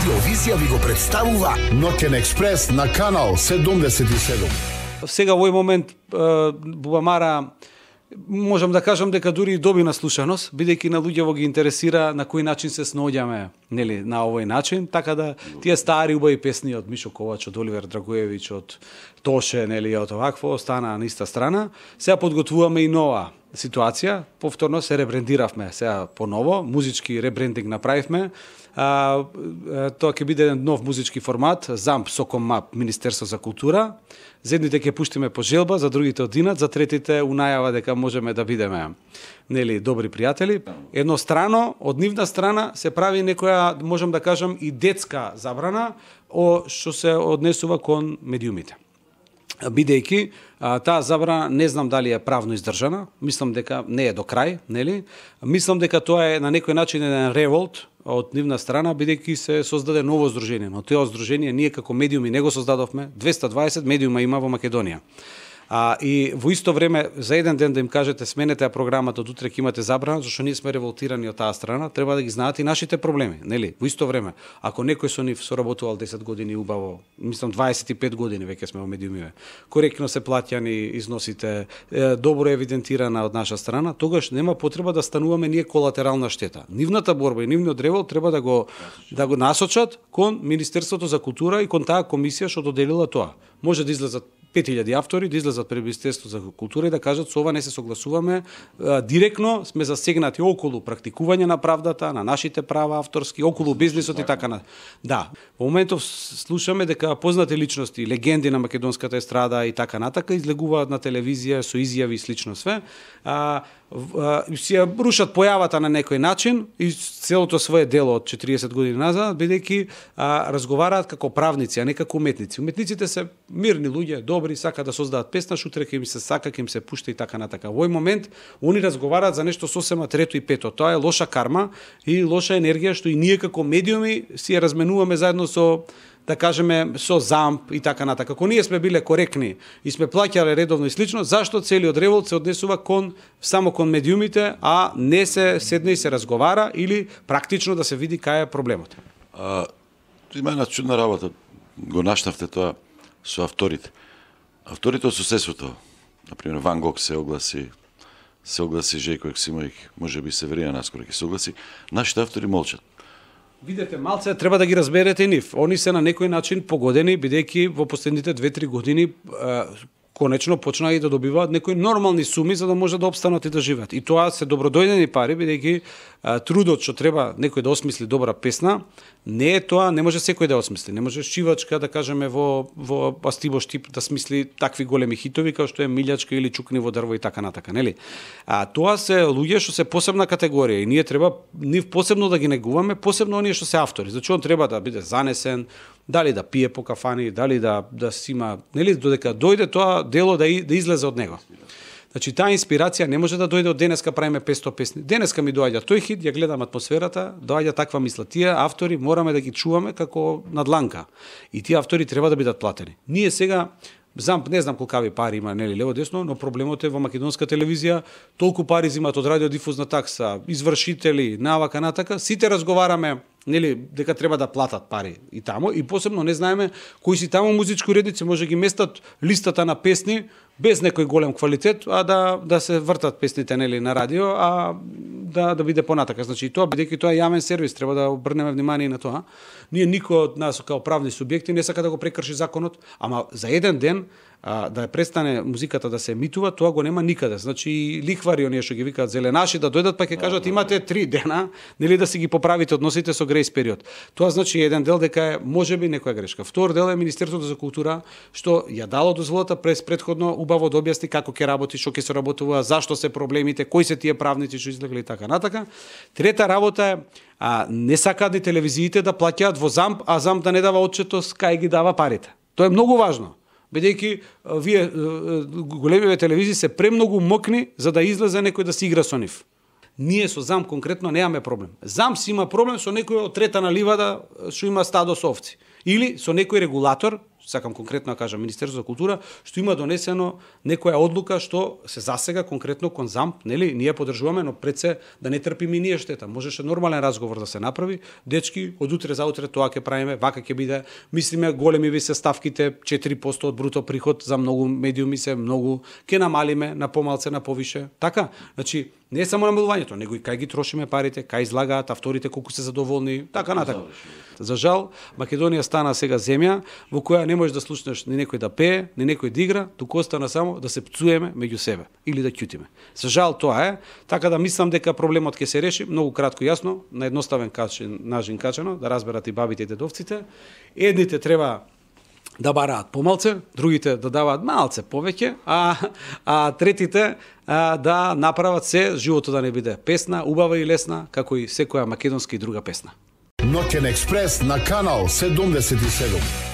Радиовизија ви го представува Ноќен експрес на канал 77. Сега во овој момент Бубамара можам да кажам дека дури доби наслушаност, бидејќи на луѓето ги интересира на кој начин се сноѓаме, нели, на овој начин, така да тие стари убави песни од Мишо Ковач, од Оливер Драгоевич, од Тоше, нели, од овакво остана на иста страна. Сега подготвуваме и нова ситуација, повторно се ребрендиравме, сега поново, музички ребрендинг направивме. Тоа ќе биде еден нов музички формат, ЗАМП Соком МАП, Министерство за култура. За едните ќе пуштиме по желба, за другите одинат, за третите унајава дека можеме да бидеме, нели, добри пријатели. Еднострано, од нивна страна се прави некоја, можам да кажам, и детска забрана што се однесува кон медиумите. Бидејќи таа забрана не знам дали е правно издржана, мислам дека не е до крај, нели? Мислам дека тоа е на некој начин еден револт од нивна страна, бидејќи се создаде ново здружение, но тоа здружение ние како медиуми не го создадовме, 220 медиума има во Македонија. И во исто време, за еден ден да им кажете сменете програмата, од утре ќе имате забрана, зашто ние сме револтирани од таа страна, треба да ги знаат и нашите проблеми, нели? Во исто време, ако некој со нив соработувал 10 години убаво, мислам 25 години веќе сме во медиумиве, коректно се плаќани износите, добро евидентирана од наша страна, тогаш нема потреба да стануваме ние колатерална штета. Нивната борба и нивниот револ треба да го насочат кон Министерството за култура и кон таа комисија што доделила тоа. Може да излезат 5000 автори, да излезат пред Министерството за култура и да кажат со ова не се согласуваме, директно сме засегнати околу практикување на правдата, на нашите права авторски, околу бизнисот и така на. Да, во моментов слушаме дека познати личности, легенди на македонската естрада и така натака излегуваат на телевизија со изјави и слично све. Си ја рушат појавата на некој начин и целото свое дело од 40 години назад, бидејќи разговараат како правници, а не како уметници. Уметниците се мирни луѓе, добри, сака да создадат песна, шутре ќе им се сака, ќе им се пушта и така натака. Во овој момент они разговараат за нешто сосема трето и пето. Тоа е лоша карма и лоша енергија што и ние како медиуми си ја разменуваме заедно со, да кажеме, со ЗАМП и така натака. Ако ние сме биле коректни и сме плаќале редовно и слично, зашто целиот револт се однесува само кон медиумите, а не се седне и се разговара или практично да се види кај е проблемот? Има една чудна работа, го наштавте тоа со авторите. Авторите од соседството, например Ван Гог се огласи Жејко Ексимовиќ, може би Северина наскоро ќе се огласи, нашите автори молчат. Видете, малце треба да ги разберете нив. Они се на некој начин погодени, бидејќи во последните 2-3 години конечно почнаа и да добиваат некои нормални суми за да може да опстанат и да живеат. И тоа се добродојдени пари, бидејќи трудот што треба некој да осмисли добра песна, не е тоа, не може секој да осмисли. Не може шивачка, да кажеме, во Астибо Штип да смисли такви големи хитови како што е Милјачка или Чукни во дрво и така натака, нели? Тоа се луѓе што се посебна категорија и ние треба нив посебно да ги негуваме, посебно оние што се автори. Значи он треба да биде занесен, дали да пие по кафани, дали да си има, нели, додека дојде тоа дело да излезе од него. Значи, таа инспирација не може да дојде од денеска правиме 500 песни. Денеска ми доаѓа тој хит, ја гледам атмосферата, доаѓа таква мисла. Тие автори мораме да ги чуваме како на дланка. И тие автори треба да бидат платени. Ние сега, ЗАМП не знам колкави пари има, нели, лево десно, но проблемот е во македонска телевизија, толку пари зимат од радиодифузна такса, извршители, навака натака, сите разговараме, нели, дека треба да платат пари и тамо, и посебно не знаеме кои си тамо музички уредници може ги местат листата на песни без некој голем квалитет, а да се вртат песните, нели, на радио, а да биде понатака. Значи тоа, бидејќи тоа е јавен сервис, треба да обрнеме внимание на тоа. Ние никој од нас како правни субјекти не сака да го прекрши законот, ама за еден ден да престане музиката да се емитува, тоа го нема никаде. Значи лихвари оние што ги викаат зеленаши да дојдат па ќе кажат имате 3 дена, нели, да си ги поправите односите со грејс период. Тоа значи еден дел дека е можеби некоја грешка. Втор дел е Министерството за култура што ја дало дозволата предходно убаво да објасни како ќе работи, што ќе се работува, зашто се проблемите, кои се тие правници што излегле и така натака. Трета работа е не сакаат ни телевизиите да плаќаат во ЗАМП, а ЗАМП да не дава отчетост кај ги дава парите. Тоа е многу важно. Бидејќи вие големиве телевизии се премногу мокни за да излезе некој да се игра со нив. Ние со ЗАМП конкретно немаме проблем. ЗАМП си има проблем со некој од трета на ливада што има стадо со овци. Или со некој регулатор, сакам конкретно да кажам Министерството за култура, што има донесено некоја одлука што се засега конкретно кон ЗАМП, нели, ние поддржуваме, но пред се да не трпиме ние штета. Можеше нормален разговор да се направи. Дечки, од утре за утре тоа ќе правиме, вака ќе биде. Мислиме големи ви се ставките, 4% од бруто приход за многу медиуми се многу, ќе намалиме на помалце, на повише. Така, значи не е само намалувањето, него и кај ги трошиме парите, кај излагаат авторите колку се задоволни, така натака. За жал, Македонија стана сега земја во која не можеш да слушнеш ни некој да пее, ни некој да игра, туку остана само да се пцуеме меѓу себе или да ќутиме. За жал тоа е, така да мислам дека проблемот ќе се реши многу кратко и јасно, на едноставен начин качено, да разберат и бабите и дедовците. Едните треба да бараат помалце, другите да даваат малце повеќе, а третите да направат се животот да не биде песна, убава и лесна, како и секоја македонска и друга песна. Ноќен експрес на канал 77.